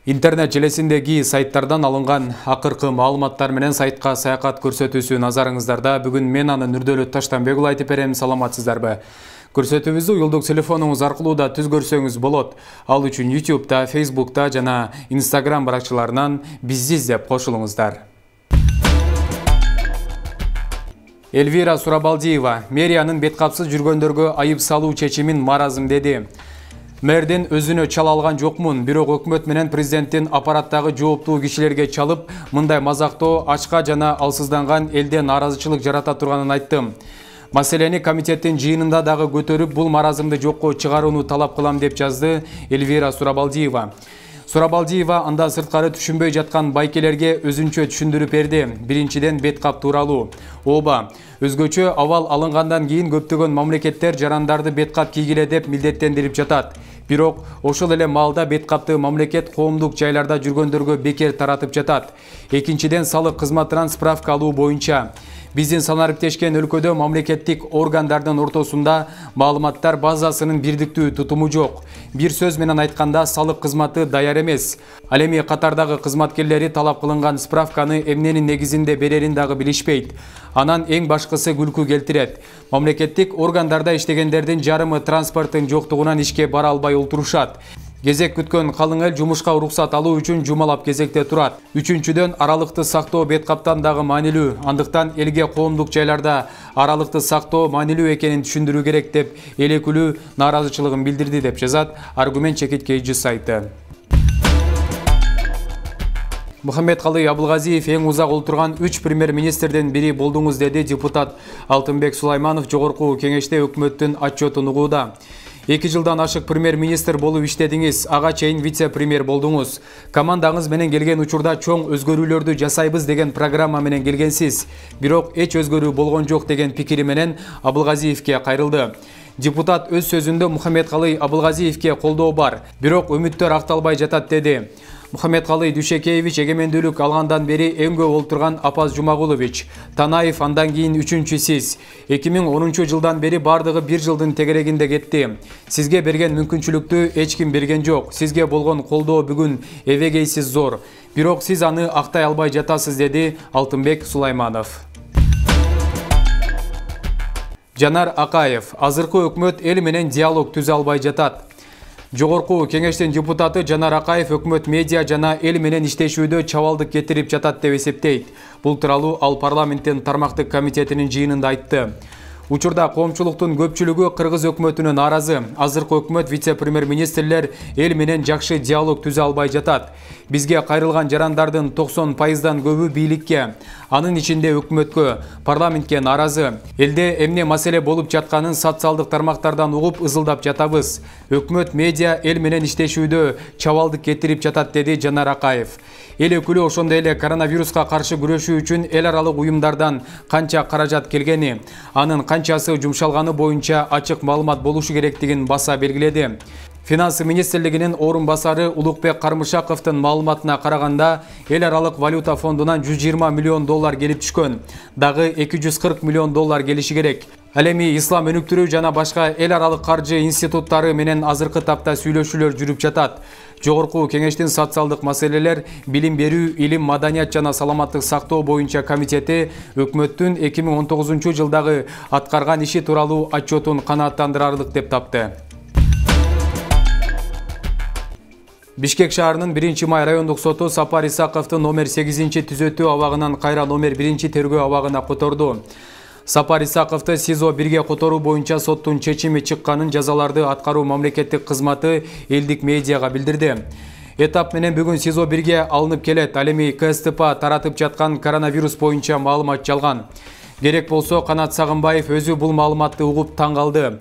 Интернет желесиндеги сайттардан алынган акыркы маалыматтар менен сайтка саякат көрсөтүүсү назарыңыздарда. Бүгүн мен аны Нурдөлөт Таштанбекұлы айтып берем. Саламатсыздарбы? Көрсөтүүбүздү уюлдук телефонуңуз аркылуу да түз көрсөңүз болот. Ал үчүн YouTube'да, Facebook'та жана Instagram баракчаларынан бизди издеп кошулуңуздар. Эльвира Сурабалдиева мэриянын беткапсыз жүргөндөргө айып салуу чечимин маразым деди. Мэрден өзүнө чала алган жокмун, бирок өкмөт менен президенттин аппараттагы жооптуу кишилерге чалып, мындай мазактоо ачка жана алсызданган элде нааразычылык жарата турганын айттым. Маселени комитеттин жыйынында дагы көтөрүп, бул маразымды жокко чыгарууну талап кылам деп жазды Эльвира Сурабалдиева. Сурабалдиева анда сырткары түшүнбөй жаткан байкелерге өзүнчө түшүндүрүп берди. Биринчиден беткап тууралуу. Ооба, өзгөчө абал алынгандан кийин көптөгөн мамлекеттер жарандарды беткап кийгиле деп милдеттендирип жатат. Бирок ошол эле маалда беткапты мамлекет коомдук жайларда жүргөндөргө бекер таратып жатат. Экинчиден салык кызматынан справка алуу боюнча. Биздин санариптешкен өлкөдө мамлекеттик органдардын ортосунда маалыматтар базасынын бирдиктүү тутуму жок. Бир сөз менен айтканда, салык кызматы даяр эмес. Ал эми катардагы кызматкерлери талап кылынган справканы эмненин негизинде берерин дагы билишпейт. Анан эң башкысы күлкү келтирет. Мамлекеттик органдарда иштегендердин жарымы транспорттун жоктугунан ишке бара албай олтурушат. Кезек күткөн калың эл жумушка уруксат алуу үчүн жумалап кезекте турат. Үчүнчүдөн аралыкты сактоо беткаптан дагы маанилүү. Андыктан элге коомдук жайларда аралыкты сактоо маанилүү экенин түшүндүрүү керек деп эл өкүлү нааразычылыгын билдирди деп жазат Аргумент чекиткейчи сайты. Мухаммедкалый Абылгазиев эң узак олтурган 3 премьер-министрден бири болдуңуз, деди депутат Алтынбек Сулайманов жогорку кеңеште өкмөттүн отчетун угууда. 2 жылдан ашык премьер-министр болуп иштедиңиз, ага чейин вице-премьер болдуңуз. Командаңыз менен келген учурда чоң өзгөрүүлөрдү жасайбыз деген программа менен келгенсиз. Бирок эч өзгөрүү болгон жок деген пикири менен Абылгазиевке кайрылды. Депутат өз сөзүндө Мухаммедкалый Абылгазиевке колдоо бар, бирок үмүттөр акталбай жатат деди. Мухаммедкалый Дүйшекеевич эгемендүүлүк алгандан бери эң көп олтурган Апаз Жумагулович, Танаев андан кийин үчүнчү сиз. 2010 жылдан бери бардыгы 1 жылдын тегерегинде кетти. Сизге берген мүмкүнчүлүктү эч ким берген жок. Сизге болгон колдоо бүгүн эбегейсиз зор. Бирок сиз аны актай албай жатасыз, деди Алтынбек Сулайманов. Жанар Акаев, азыркы өкмөт эл менен диалог түзө албай жатат. Жогорку кеңештин депутаты Жанар Акаев өкмөт медиа жана эл менен иштешүүдө чабалдык кетирип жатат деп эсептейт. Бул тууралуу ал парламенттин тармактык комитетинин жыйынында айтты. Учурда коомчулуктун көпчүлүгү кыргыз өкмөтүнө нааразы. Азыркы өкмөт вице-премьер-министрлер эл менен жакшы диалог түзө албай жатат. Бизге кайрылган жарандардын 90% көбү бийликке, анын ичинде өкмөткө, парламентке нааразы. Элде эмне маселе болуп жатканын социалдык тармактардан угуп ызылдап жатабыз. Өкмөт медиа эл менен иштешүүдө чабалдык кетирип жатат, деди Жанар Акаев. Эл өкүлү ошондой эле коронавируска каршы күрөшүү үчүн эл аралык уюмдардан канча каражат келгени, анын канчасы жумшалганы боюнча ачык маалымат болушу керектигин баса белгиледи. Финансы министрлигинин орун басары Улукбек Кармышаковдун маалыматына караганда, эл аралык валюта фондунан $120 миллион келип түшкөн. Дагы $240 миллион келиши керек. Ал эми ислам өнүктүрүү жана башка эл аралык каржы институттары менен азыркы тапта сүйлөшүүлөр жүрүп жатат. Жогорку кеңештин социалдык маселелер, билим берүү, илим, маданият жана саламаттык сактоо боюнча комитети өкмөттүн 2019 жылдагы аткарган иши тууралуу отчетун канааттандырарлык деп тапты. Бишкек шаарынын 1-май райондук соту Сапар Исаковду номер 8 түзөтүү абагынан кайра номер 1 тергөө абагына которду. Сапар Исаковду СИЗО 1-ге которуу боюнча соттун чечими чыкканын жазаларды аткаруу мамлекеттик кызматы элдик медиага билдирди. Этап менен бүгүн СИЗО 1-ге алынып келет. Ал эми КСТП таратып жаткан коронавирус боюнча маалымат жалган. Керек болсо Канат Сагынбаев өзү бул маалыматты угуп таң калды.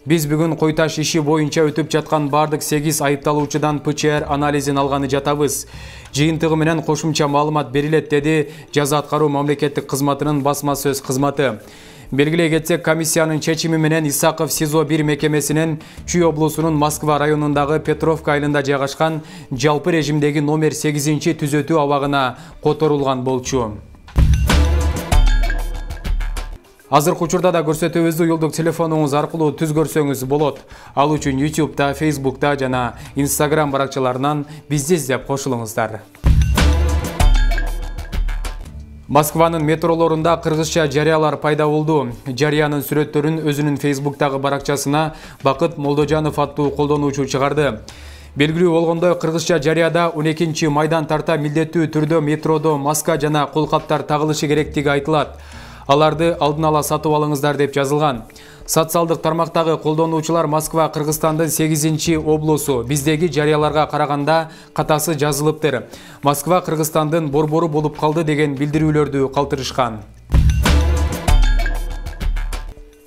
Биз бүгүн Койташ иши боюнча өтүп жаткан бардык 8 айыпталуучудан ПЧР анализин алганы жатабыз. Жыйынтыгы менен кошумча маалымат берилет, деди жаза аткаруу мамлекеттик кызматынын басма сөз кызматы. Белгилей кетсек, комиссиянын чечими менен Исаков СИЗО 1 мекемесинин Чүй облусунун Москва районундагы Петровка айылында жайгашкан жалпы режимдеги номер 8 түзөтүү абагына которулган болчу. Азыркы учурда да көрсөтүүбүздү уюлдук телефонуңуз аркылуу түз көрсөңүз болот. Ал үчүн YouTube'да, Facebook'та жана Instagram баракчаларынан бизди издеп кошулуңуздар. Москванын метролорунда кыргызча жарыялар пайда болду. Жарыянын сүрөттөрүн өзүнүн Facebook'тагы баракчасына Бакыт Молдожанов аттуу колдонуучу чыгарды. Белгилүү болгондой, кыргызча жарыяда 12 майдан тарта милдеттүү түрдө метродо маска жана колкаптар тагылышы керектиги айтылат. Аларды алдын ала сатып алыңыздар деп жазылган. Социалдык тармактагы колдонуучулар Москва Кыргызстандын 8-чи облусу, биздеги жарыяларга караганда катасы жазылыптыр. Москва Кыргызстандын борбору болуп калды деген билдирүүлөрдү калтырышкан.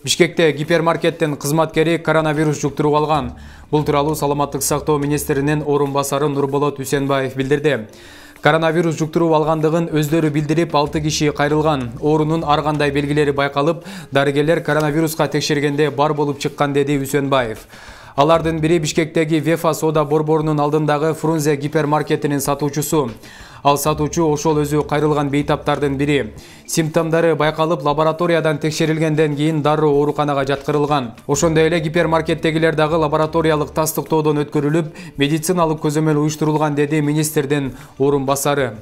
Бишкекте гипермаркеттин кызматкери коронавирус жуктуруп алган. Бул тууралуу Саламаттык сактоо министринин орун басары Нурболот Үсенбаев билдирди. Коронавирус жуктуруп алгандыгын өздөрү билдирип, 6 киши кайрылган. Оорунун ар кандай белгилери байкалып, дарыгерлер коронавируска текшергенде бар болуп чыккан, деди Үсенбаев. Алардын бири Бишкектеги Вефа соода борборунун алдындагы Фрунзе гипермаркетинин сатуучусу. Ал сатуучу ошол өзү кайрылган бейтаптардын бири. Симптомдору байкалып, лабораториядан текшерилгенден кийин дароо ооруканага жаткырылган. Ошондой эле гипермаркеттегилер дагы лабораториялык тастыктоодон өткөрүлүп, медициналык көзөмөл уюштурулган, деди министрдин орун басары.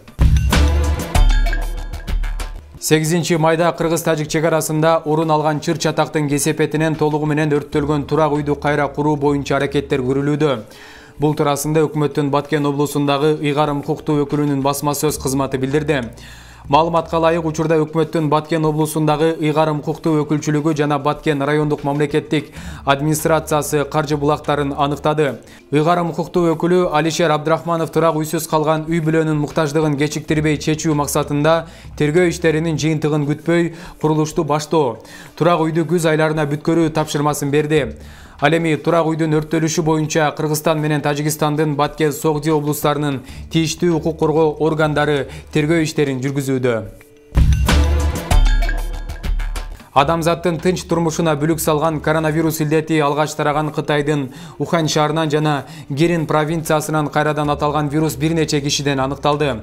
8 майда Кыргыз-Тажик чек арасында орун алган чыр-чатактын кесепетинен толугу менен өрттөлгөн турак үйдү кайра куруу боюнча аракеттер көрүлүүдө. Бул туурасында өкмөттүн Баткен облусундагы ыйгарым укуктуу өкүлүнүн басма сөз кызматы билдирди. Маалыматка ылайык, учурда өкмөттүн Баткен облусундагы ыйгарым укуктуу өкүлчүлүгү жана Баткен райондук мамлекеттик администрациясы каржы булактарын аныктады. Ыйгарым укуктуу өкүлү Алишер Абдрахманов турак үйсүз калган үй бүлөнүн муктаждыгын кечиктирбей чечүү максатында тергөө иштеринин жыйынтыгын күтпөй курулушту баштоо, турак үйдү күз айларына бүткөрүү тапшырмасын берди. Ал эми турак үйдүн өрттөлүшү боюнча Кыргызстан менен Тажикстандын Баткен, Согди облустарынын тийиштүү укук коргоо органдары тергөө иштерин жүргүзүүдө. Адамзаттын тынч турмушуна бүлүк салган коронавирус илдети алгач тараган Кытайдын Ухань шаарынан жана Герин провинциясынан кайрадан аталган вирус бир нече кишиден аныкталды.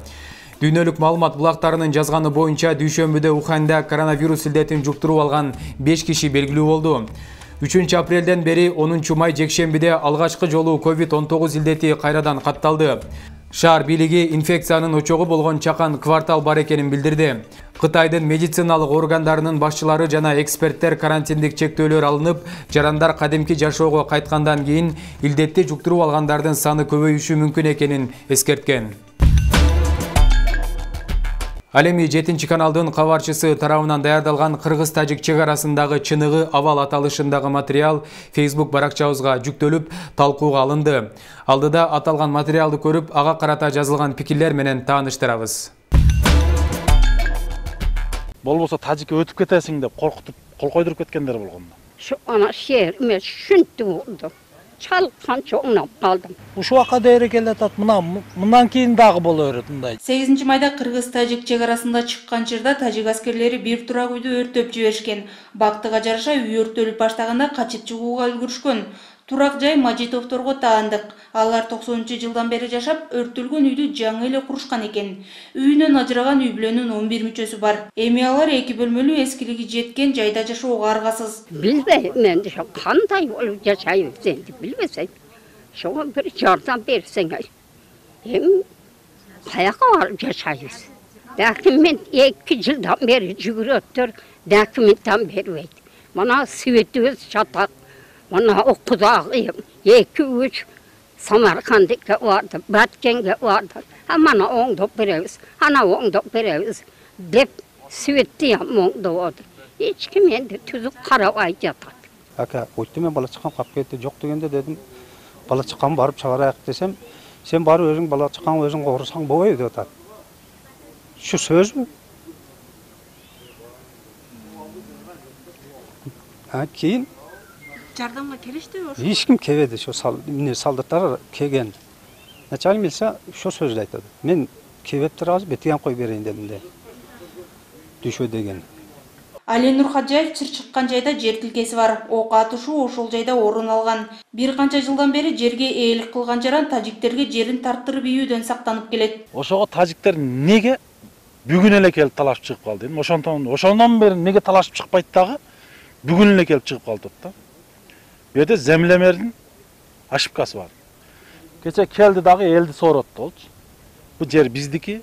Дүйнөлүк маалымат булактарынын жазганы боюнча дүйшөмбүдө Уханьда коронавирус илдетин жуктуруп алган 5 киши белгилүү болду. 3 апрелден бери 10 май жекшембиде алгачкы жолу COVID-19 илдети кайрадан катталды. Шаар бийлиги инфекциянын очогу болгон чакан квартал бар экенин билдирди. Кытайдын медициналык органдарынын башчылары жана эксперттер карантиндик чектөөлөр алынып, жарандар кадимки жашоого кайткандан кийин илдетти жуктуруп алгандардын саны көбөйүшү мүмкүн экенин эскерткен. Ал эми 7 каналдын кабарчысы тарабынан даярдалган Кыргыз-Тажик чек арасындагы чыныгы абал аталышындагы материал Facebook баракчабызга жүктөлүп, талкууга алынды. Алдыда аталган материалды көрүп, ага карата жазылган пикирлер менен тааныштырабыз. Болбосо тажикке өтүп кетесиң деп коркутуп, кол койдуруп кеткендер болгон. Şu ana şehrime şüntü oldu. Çalkan çoğunap kaldım. Ушул вакытка дейре келатат, мындан кийин дагы боло берет мындай. 8 майда Кыргыз-Тажик чек арасында чыккан чырда тажик аскерлери бир турак үйдү өрттөп жиберишкен. Бактыга жараша үй өрттөлүп баштаганда качып чыгууга үлгүрүшкөн. Турак жай Мажитовторго таандык. Алар 90-жылдан бери жашап, өрттөлгөн үйдү жаңы эле курушкан экен. Үйүнөн ажыраган үй бүлөнүн 11 мүчөсү бар. Эми алар 2 бөлмөлүү эскилиги жеткен жайда жашоого аргасыз. Bilmem ben de şu kanday olup yaşayıp sen de bilmesen. Şu bir yardım versen. Hem kayağa varıp yaşayız. Lakin ben 2 yıldan beri yürüttür. Dokumentten beri. Bana sivetimiz çatak. Bana okudağıyım. 2-3 Samarkand'da vardı, Batken'de vardı. Bana onu veririz, ana onu veririz. Dep sivettiyim onu vardı. Hiç kim endi tüzük karavay yatar. Aka, o'tdi men bala chiqqan qolib ketdi, yo'q degende dedim. Bala chiqqan borib chaqirayaq desem, sen borib o'zing bala chiqqan o'zing qo'g'risang bo'lmaydi deb aytadi. Shu so'zmi? Ha, keyin Жардамга келишти ошо. hech kim kelmedi, shu soldatlar kelgan. Начальник bilsa shu so'zni aytadi. Men kelibdir hozir betigan qo'yib berayin dedim de. Düşö degan. Али Нурхаджаев чыр чыккан жайда жер тилкеси бар. Ок атышуу ошол жайда орун алган. Бир канча жылдан бери жерге ээлик кылган жаран тажиктерге жерин тарттырып ийүүдөн сактанып келет. Ошого тажиктер неге Бүгүн эле келип талашып чыгып калды. Эми ошондон бери неге талашып чыкпайт дагы? Бүгүн эле келип чыгып калды да. Бу жерде землемердин ошибкасы бар. Кече келди дагы элди сооротtu болчу. Бу жер биздики,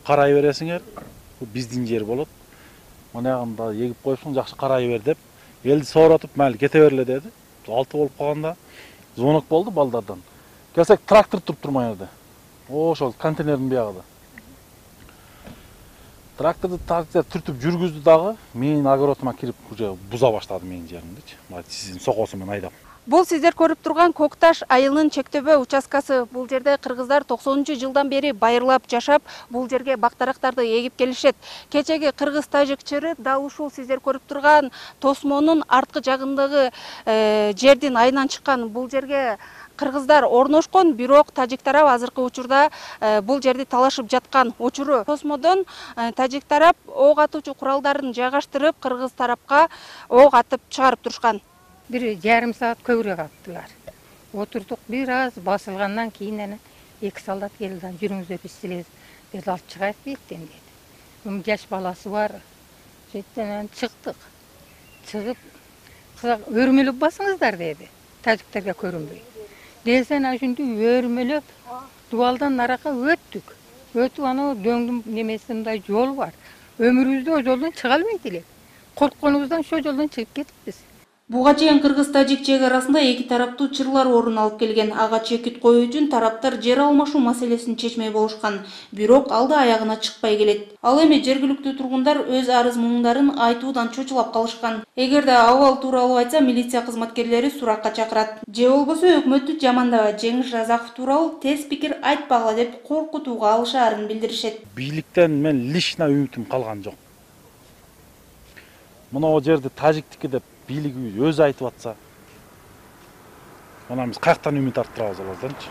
карай бересиңер. Бу биздин жер болот. Монягында эгип коюпсуң, жакшы карай бер деп элди сооротуп, майли кете берле деди. 6 болуп калганда звонок болду балдардан. Келсек трактор туруп турмай жерде. Ошол контейнердин биягында. Тракторду түртүп жүргүздү дагы, менин огородума кирип уже буза баштады менин жеримдичи. Сиздин сокосу менен айдап. Бул сиздер көрүп турган Кокташ айылынын чектөбө участкасы. Бул жерде кыргыздар 90-жылдан бери байырлап жашап, бул жерге бактарактарды эгип келишет. Кечеги кыргыз-тажик чыры дал ушул сиздер көрүп турган тосмонун арткы жагындагы жердин айынан чыккан. Бул жерге кыргыздар орношкон, бирок тажик тарап азыркы учурда бул жерди талашып жаткан. Учуру тосмодон тажик тарап ок атуучу куралдарын жайгаштырып, кыргыз тарапка ок атып чыгарып турушкан. 1,5 саат көбүрөөк аттылар. Отурдук, бир аз басылгандан кийин 2 солдат келди. Жүрүңүздөр биз силерди деди, алып чыгайык беттен деди. Жаш баласы бар. Сөйттен чыктык. Чыгып, өрмөлөп басыңыздар деди. Тажиктерге көрүнбөй. Десен ошентип өрмөлөп, дубалдан нарака өттүк. Өтүп анау дөңдүн немесинде жол бар. Өмүрүбүздө о жолдон чыга албайт элек. Коркконубуздан ошол жолдон чыгып кетиппиз. Буга чейин кыргыз-тажик чек арасында эки тараптуу чырлар орун алып келген. Ага чекит коюу үчүн тараптар жер алмашуу маселесин чечмей болушкан. Бирок алды аягына чыкпай келет. Ал эми жергиликтүү тургундар өз арыз муңдарын айтуудан чочулап калышкан. Эгерде абал тууралуу айтса, милиция кызматкерлери суракка чакырат. Же болбосо өкмөттү жамандабай, Жеңиш Разаков тууралуу тез пикир айтпагыла деп коркутууга алышаарын билдиришет. Бийликтен мен лично үмүтүм калган жок. Мына жерде тажиктики деп бийлиги өзү айтып атса, ана биз каяктан үмүт арттырабыз аларданчы.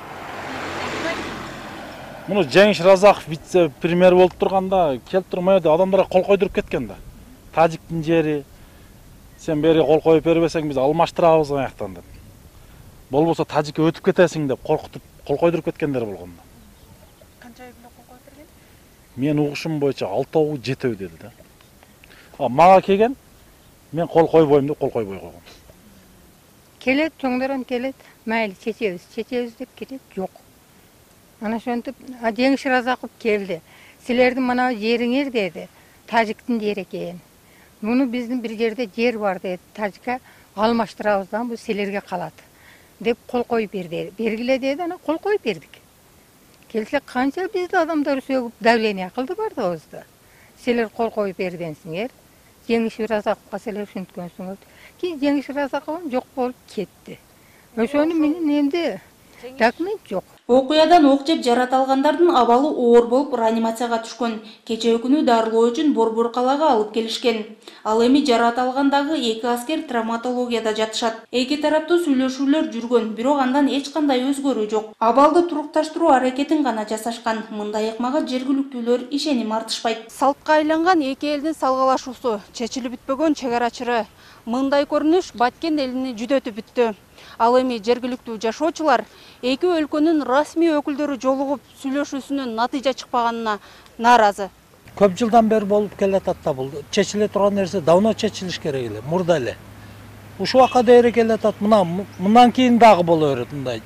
Муну Жеңиш Разаков вице-премьер болуп турганда келип турмай адамдарга кол койдуруп кеткен да. Тажиктин жери, сен бери кол коюп бербесең биз алмаштырабыз аяктан деп. Болбосо тажикке өтүп кетесиң деп коркутуп кол койдуруп кеткендер болгон да. Канча ай кол коюп берген? Мен угушум боюнча 6 7 деди да. Мага келген, мен кол койбойм деп кол койбой койгон. Келет, чоңдорон келет, майли чечебиз деп келет, жок. Ана ошентип, Жеңиш Разаков келди. Силердин мына жериңер деди, тажиктин жери экен. Муну биздин бир жерде жер бар деди, тажикка алмаштырабыздан бул силерге калат деп кол коюп берди. Бергиле деди, ана кол коюп бердик. Келсек канча бизди адамдар сөгүп давление кылды бардыгыбызды. Силер кол коюп бергенсиңер. Жеңиш Разаковго силер ушинткөнсүңөр. Кийин Жеңиш Разаков жок болуп кетти. Ошону менен эмди документ жок. Окуядан ок жеп жарата алгандардын абалы оор болуп реанимацияга түшкөн. Кечээ күнү дарылоо үчүн Борбор калаага алып келишкен. Ал эми жарата алгандагы 2 аскер травматологияда жатышат. Эки тараптуу сүйлөшүүлөр жүргөн, бирок андан эч кандай өзгөрүү жок. Абалды турукташтыруу аракетин гана жасашкан. Мындай ыкмага жергиликтүүлөр ишеним артышпайт. Салтка айланган эки элдин салгалашуусу, чечилип бүтпөгөн чек ара чыры. Мындай көрүнүш Баткен элини жүдөтүп бүттү. Ал эми жергиликтүү жашоочулар эки өлкөнүн расмий өкүлдөрү жолугуп сүйлөшүүсүнүн натыйжа чыкпаганына нааразы. Көп жылдан бери болуп келатат да бул. Чечиле турган нерсе давно чечилиш керек эле, мурда эле. Ушул акка дейре келатат. Мындан кийин дагы боло берет мындай.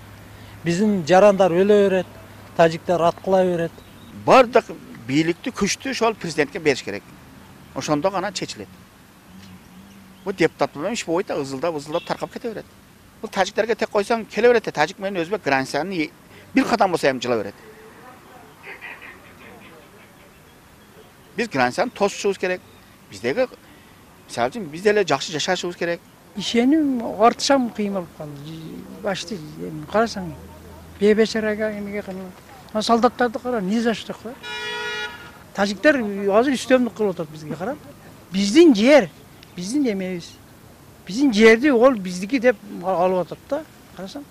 Биздин жарандар өлө берет, тажиктер аткыла берет. Бардык бийликти күчтү ошол президентке бериш керек. Ошондо гана чечилет. Бу депутат менен иш болбойт да, ызылдап таркап кете берет. Бул тажиктерге тек койсоң келе берет. Тажик менен өзбек границаны бир кадам болсо эми жыла берет. Биз границаны тосушубуз керек. Биздеги мисалы үчүн биз деле жакшы жашашыбыз керек. Ишеним артышам кыйын болуп калды. Башты карасаң, бейбечарага эмеге кылып. Солдаттарды кара, ни за что кылат. Тажиктер азыр үстөмдүк кылып атат бизге карап. Биздин жер, биздин эмебиз. Биздин жерди ол биздики деп алып атат да. Карасаң.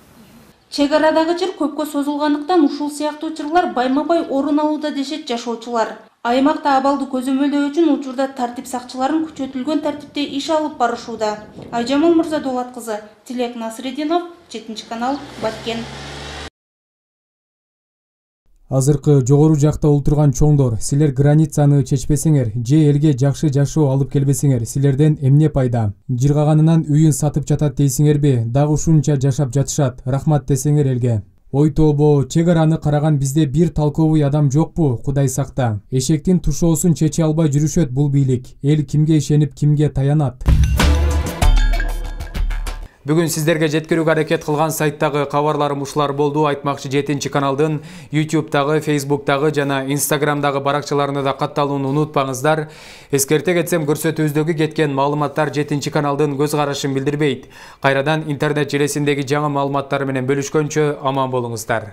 Чек арадагы чыр көпкө созулгандыктан ушул сыяктуу чырлар байма-бай орун алууда дешет жашоочулар. Аймакта абалды көзөмөлдөө үчүн учурда тартип сакчыларын күчөтүлгөн тартипте иш алып барышууда. Айжамал Мырзадолат кызы, Тилек Насрединов, 7 канал, Баткен. Азыркы жогору жакта олтурган чоңдор, силер границаны чечпесеңер же элге жакшы жашоо алып келбесеңер, силерден эмне пайда? Жыргаганынан үйүн сатып жатат дейсиңерби? Дагы ушунча жашап жатышат. Рахмат десеңер элге. Ой тобо, чек араны караган бизде бир толковый адам жокпу? Кудай сакта. Эшектин тушоосун чече албай жүрүшөт бул бийлик. Эл кимге ишенип, кимге таянат? Бүгүн сиздерге жеткирүүгө аракет кылган сайттагы кабарларым ушулар болду. Айтмакчы 7 каналдын YouTube'дагы, Facebook'дагы жана Instagram'дагы баракчаларына да катталууну унутпаңыздар. Эскерте кетсем, көрсөтүүбүздөгү кеткен маалыматтар 7 каналдын көз карашын билдирбейт. Кайрадан интернет желесиндеги жаңы маалыматтар менен бөлүшкөнчө аман болуңуздар.